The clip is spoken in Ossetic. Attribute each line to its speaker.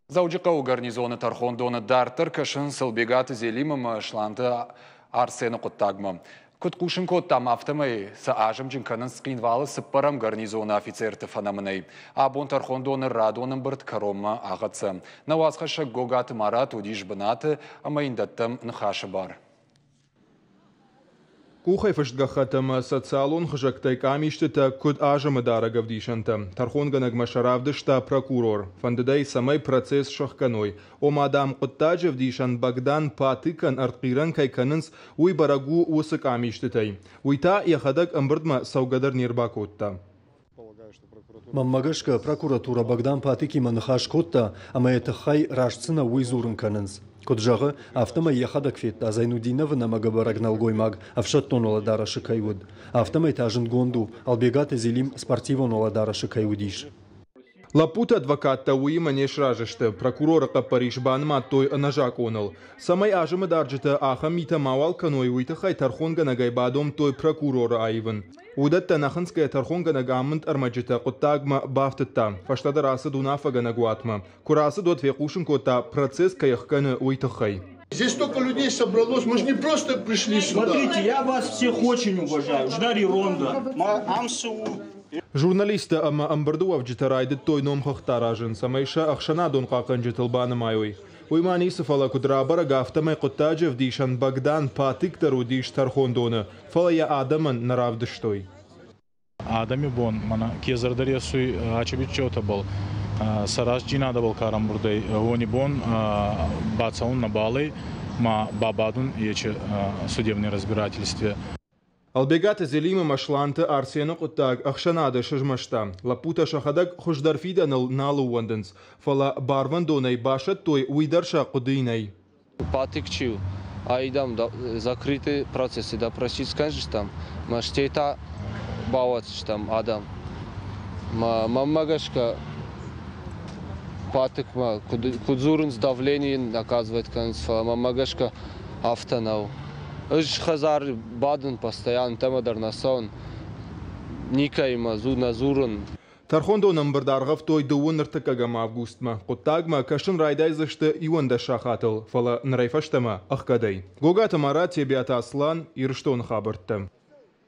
Speaker 1: Дзӕуджыхъӕуы гарнизоны тӕрхондоны дарддӕр кӕсынц Ӕлбегаты Зелим ӕмӕ Сланты Арсены хъуыддагмӕ. Куыд хъусын кодтам, афтӕмӕй сӕ азымджын кӕнынц Цхинвалы цыппӕрӕм гарнизоны офицерты фӕнӕмынӕй. Абон тӕрхондоны радон ӕмбырд кӕронмӕ ахӕццӕ. Нӕ уацхӕссӕг Гогаты Марат уыдис бынаты ӕмӕ йын дӕттӕм ныхасы бар.
Speaker 2: Къухӕй фыст гӕххӕтт ӕмӕ социалон хызӕгтӕй къамистытӕ куыд азымы дарӕг ӕвдисӕнтӕ. Тӕрхонгӕнӕгмӕ сӕ равдыста прокурор. Фӕндыд ӕй, цӕмӕй процесс сӕхгӕной. Ома, дам, хъуыддаджы ӕвдисӕн Богдан Патыкӕн ӕртхъирӕн кӕй кӕнынц, уый бӕрӕг у уыцы къамистытӕй. Уый та йӕхӕдӕг ӕмбырдмӕ цӕугӕ дӕр не рбакодта.
Speaker 3: Мӕнмӕ гӕсгӕ, прокуратурӕ Богдан Патыкимӕ ныхас кодта ӕмӕ йӕ тыххӕй раст цы нӕу, уый дзурын кӕнынц. Куыд зӕгъы, афтӕмӕй йӕхӕдӕг федта Зайнудиновы нӕмӕгӕбӕрӕг нӕлгоймаг ӕфсӕддон уӕлӕдарӕсы кӕй уыд. Афтӕмӕй та зындгонд у, Ӕлбегаты Зелим спортивон уӕлӕдарӕсы кӕй уыдис.
Speaker 2: Лӕппуты адвокаттӕ уыимӕ не сразы сты. Прокуроры хъӕппӕрис банымадтой ӕнӕзакъоныл. Цӕмӕй азымы дарджытӕ ахӕм митӕ мауал кӕной, уый тыххӕй тӕрхонгӕнӕгӕй бадомдтой прокуроры аивын. Уыдӕттӕ нӕ хынцгӕйӕ тӕрхонгӕнӕг амынд ӕрмӕджытӕ хъуыддагмӕ бафтыдта. Фӕстӕдӕр ацыд уынаффӕгӕнӕг уатмӕ. Куы рацыд, уӕд фехъусын кодта, процесс кӕй ӕхгӕны, уый тыххӕй.
Speaker 4: Здесь столько людей собралось, мы же не просто пришли сюда.
Speaker 5: Смотрите, я вас всех очень уважаю. Ждари Ронда.
Speaker 2: Журналисттӕ ӕмӕ ӕмбырды уӕвджытӕ райдыдтой номхыгъдтӕ аразын, цӕмӕй сӕ ӕхсӕнадон хъахъхъӕнджытыл банымайой. Уый ма ницы, фӕлӕ куыд рабӕрӕг, афтӕмӕй хъуыддаджы ӕвдисӕн Богдан Патык дӕр уыдис тӕрхондоны, фӕлӕ йӕ адӕмӕн нӕ равдыстой.
Speaker 6: Адӕми бон мӕнӕ ке зӕрдӕ ресуй ачебитчеутӕбӕл, сӕ рӕстдзийнадӕбӕл ка рамбурдӕй, уони бон бацӕун нӕбал ӕй, ма бабадун ечи судебный разбирательстве.
Speaker 2: Ӕлбегаты Зелим ӕмӕ Сланты Арсены хъуыддаг ӕхсӕнады сызмӕста. Лӕппутӕ сӕхӕдӕг хуыздӕр фидӕныл нал ӕууӕндынц, фӕлӕ барвӕндонӕй басӕттой, уый дӕр сӕ хъуыдыйы нӕй.
Speaker 7: Патык чи у, айдам закрытый процессы допросить скӕндзыстӕм, мӕ стӕй та бауадздзыстӕм адӕм. Мӕнмӕ гӕсгӕ Патыкмӕ куыд дзурынц, давление оказывать кӕнынц, фӕлӕ мӕнмӕ гӕсгӕ афтӕ нӕу. Ӕз хӕдзары бадын постоянно, ӕмӕ дӕр нӕ цӕуын, никӕимӕ нӕ дзурын.
Speaker 2: Тӕрхондон ӕмбырд аргъӕвтой дыууын ӕртыккӕгӕм августмӕ. Хъуыддагмӕ кӕсын райдайдзысты 11 сахатыл, фӕлӕ нырӕй фӕстӕмӕ ӕхгӕдӕй. Гогаты Марат, Тебиаты Аслан, Ирыстоны хабӕрттӕ.